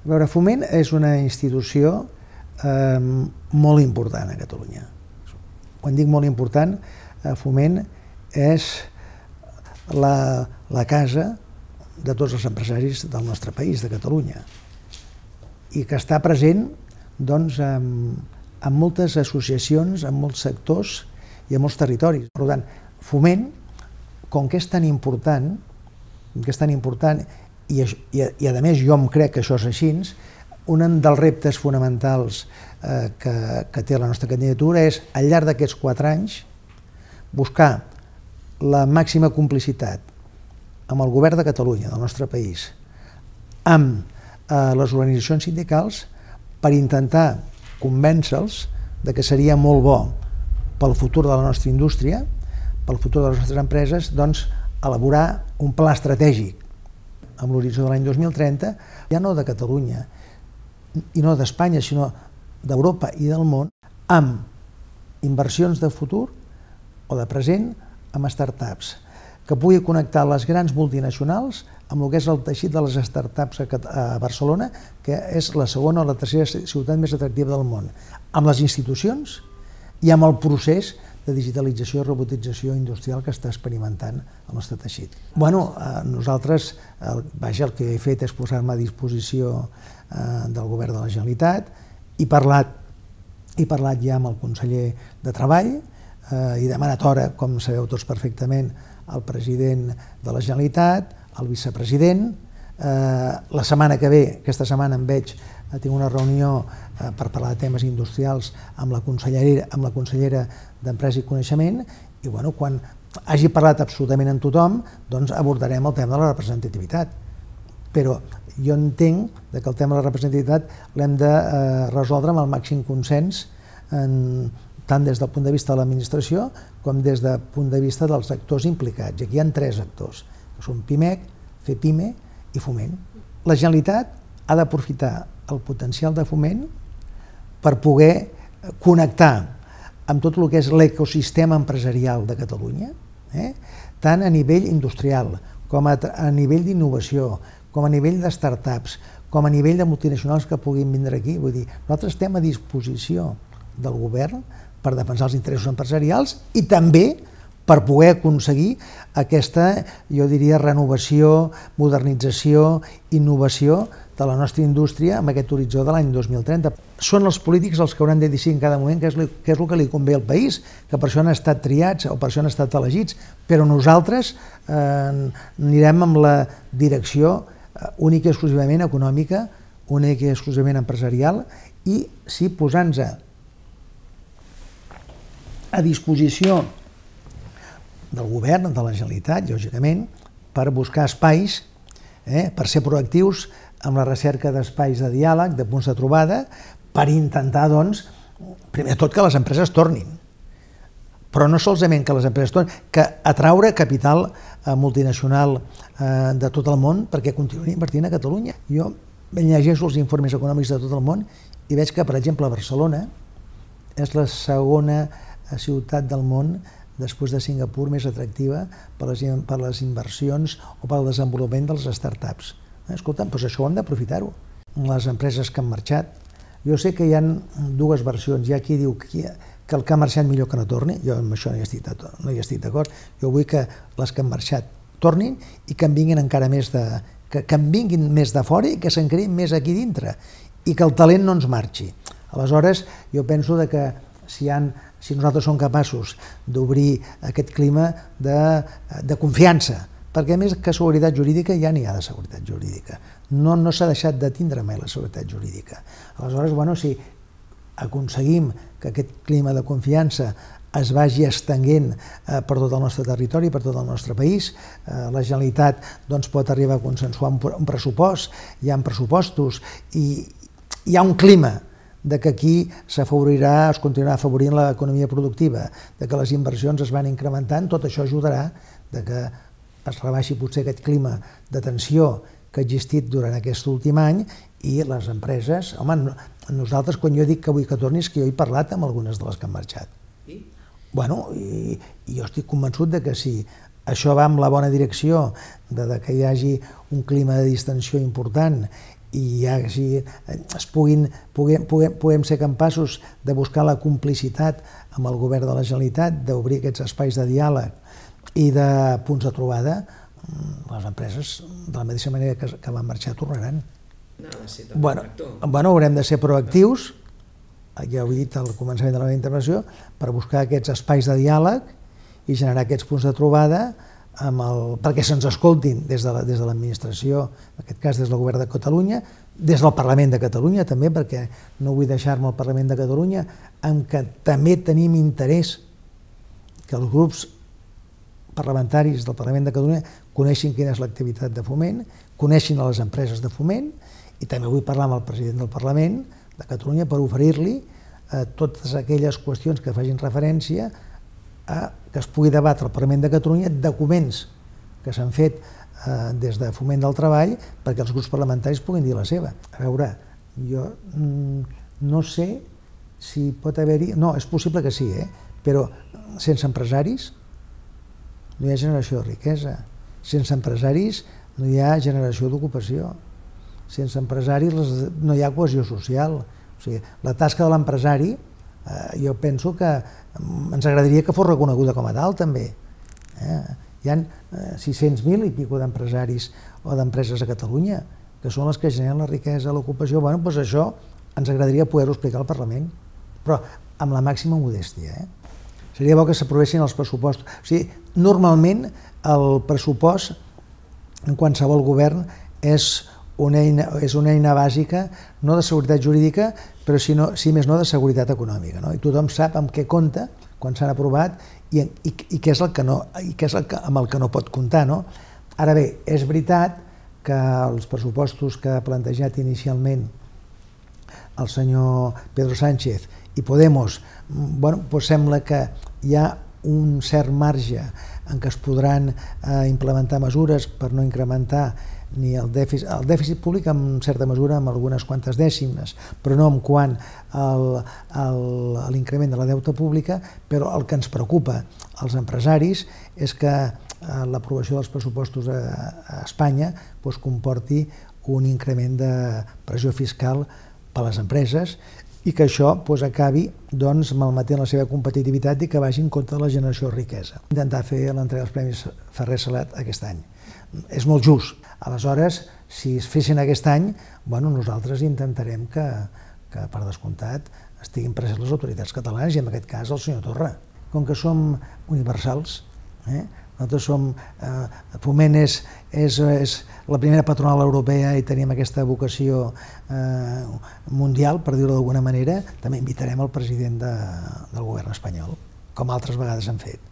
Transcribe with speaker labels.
Speaker 1: A veure, Foment és una institució molt important a Catalunya. Quan dic molt important, Foment és la casa de tots els empresaris del nostre país, de Catalunya, i que està present doncs, en moltes associacions, en molts sectors i en molts territoris. Per tant, Foment, com que és tan important, i a més jo em crec que això és així, un dels reptes fonamentals que té la nostra candidatura és, al llarg d'aquests 4 anys, buscar la màxima complicitat amb el govern de Catalunya, del nostre país, amb les organitzacions sindicals, per intentar convèncer-los que seria molt bo pel futur de la nostra indústria, pel futur de les nostres empreses, doncs elaborar un pla estratègic amb l'horitzó de l'any 2030, ja no de Catalunya i no d'Espanya, sinó d'Europa i del món, amb inversions de futur o de present amb startups, que pugui connectar les grans multinacionals amb el que és el teixit de les startups a Barcelona, que és la segona o la tercera ciutat més atractiva del món, amb les institucions i amb el procés de digitalització i robotització industrial que està experimentant el nostre teixit. Bueno, nosaltres, el que he fet és posar-me a disposició del govern de la Generalitat, he parlat ja amb el conseller de Treball, he demanat hora, com sabeu tots perfectament, al president de la Generalitat, al vicepresident. La setmana que ve, aquesta setmana em veig, tinc una reunió per parlar de temes industrials amb la consellera d'Empresa i Coneixement, i quan hagi parlat absolutament amb tothom, doncs abordarem el tema de la representativitat. Però jo entenc que el tema de la representativitat l'hem de resoldre amb el màxim consens, tant des del punt de vista de l'administració com des del punt de vista dels actors implicats. Aquí hi ha 3 actors, que són PIMEC, FEPIME i Foment. La Generalitat ha d'aprofitar el potencial de Foment per poder connectar amb tot el que és l'ecosistema empresarial de Catalunya, tant a nivell industrial com a nivell d'innovació, com a nivell de startups, com a nivell de multinacionals que puguin vindre aquí. Vull dir, nosaltres estem a disposició del govern per defensar els interessos empresarials i també per poder aconseguir aquesta, jo diria, renovació, modernització, innovació de la nostra indústria amb aquest horitzó de l'any 2030. Són els polítics els que hauran de decidir en cada moment què és el que li convé al país, que per això han estat triats o per això han estat elegits, però nosaltres anirem amb la direcció única i exclusivament econòmica, única i exclusivament empresarial, i sí posant-nos a disposició del govern, de la Generalitat, lògicament, per buscar espais, per ser proactius amb la recerca d'espais de diàleg, de punts de trobada, per intentar, doncs, primer de tot que les empreses tornin. Però no solament que les empreses tornin, que atraure capital multinacional de tot el món perquè continuïn invertint a Catalunya. Jo llegeixo els informes econòmics de tot el món i veig que, per exemple, Barcelona és la segona ciutat del món després de Singapur més atractiva per les inversions o pel desenvolupament dels startups. Escolta'm, doncs això ho hem d'aprofitar-ho. Les empreses que han marxat, jo sé que hi ha 2 versions. Hi ha qui diu que el que ha marxat millor que no torni, jo amb això no hi estic d'acord. Jo vull que les que han marxat tornin i que en vinguin encara més de fora i que se'n creïn més aquí dintre i que el talent no ens marxi. Aleshores, jo penso que si nosaltres som capaços d'obrir aquest clima de confiança, perquè a més que seguretat jurídica ja n'hi ha de seguretat jurídica, no s'ha deixat de tindre mai la seguretat jurídica. Aleshores, si aconseguim que aquest clima de confiança es vagi estenent per tot el nostre territori, per tot el nostre país, la Generalitat pot arribar a consensuar un pressupost, hi ha pressupostos i hi ha un clima que aquí s'afavorirà, es continuarà afavorint l'economia productiva, que les inversions es van incrementant, tot això ajudarà que es rebaixi potser aquest clima de tensió que ha existit durant aquest últim any i les empreses, nosaltres quan jo dic que vull que torni és que jo he parlat amb algunes de les que han marxat. I jo estic convençut que si això va en la bona direcció, que hi hagi un clima de distensió important i ja si puguem ser capaços de buscar la complicitat amb el govern de la Generalitat, d'obrir aquests espais de diàleg i de punts de trobada, les empreses, de la mateixa manera que van marxar, tornaran. Bueno, haurem de ser proactius, ja ho he dit al començament de la meva intervenció, per buscar aquests espais de diàleg i generar aquests punts de trobada perquè se'ns escoltin des de l'administració, en aquest cas des del govern de Catalunya, des del Parlament de Catalunya també, perquè no vull deixar-me el Parlament de Catalunya, en què també tenim interès que els grups parlamentaris del Parlament de Catalunya coneixin quina és l'activitat de Foment, coneixin les empreses de Foment, i també vull parlar amb el president del Parlament de Catalunya per oferir-li totes aquelles qüestions que facin referència que es pugui debatre al Parlament de Catalunya documents que s'han fet des de Foment del Treball perquè els grups parlamentaris puguin dir la seva. A veure, jo no sé si pot haver-hi... No, és possible que sí, però sense empresaris no hi ha generació de riquesa. Sense empresaris no hi ha generació d'ocupació. Sense empresaris no hi ha cohesió social. O sigui, la tasca de l'empresari jo penso que ens agradaria que fos reconeguda com a tal també. Hi ha 600.000 i pico d'empresaris o d'empreses a Catalunya que són les que generen la riquesa, l'ocupació. Bé, doncs això ens agradaria poder-ho explicar al Parlament, però amb la màxima modèstia. Seria bo que s'aprovessin els pressupostos. O sigui, normalment el pressupost en qualsevol govern és una eina bàsica, no de seguretat jurídica, però si més no de seguretat econòmica. I tothom sap amb què compta quan s'han aprovat i què és amb el que no pot comptar. Ara bé, és veritat que els pressupostos que ha plantejat inicialment el senyor Pedro Sánchez i Podemos, sembla que hi ha un cert marge en què es podran implementar mesures per no incrementar ni el dèficit públic en certa mesura amb algunes quantes dècimes, però no en quant a l'increment de la deute pública, però el que ens preocupa als empresaris és que l'aprovació dels pressupostos a Espanya comporti un increment de pressió fiscal per a les empreses i que això acabi malmetent la seva competitivitat i que vagi en contra de la generació de riquesa. Intentar fer l'entrega dels Premis Ferrer Salat aquest any. És molt just. Aleshores, si es fessin aquest any, nosaltres intentarem que per descomptat estiguin presents les autoritats catalanes i en aquest cas el senyor Torra. Com que som universals, nosaltres som... Foment és la primera patronal europea i tenim aquesta vocació mundial, per dir-ho d'alguna manera, també invitarem el president del govern espanyol, com altres vegades han fet.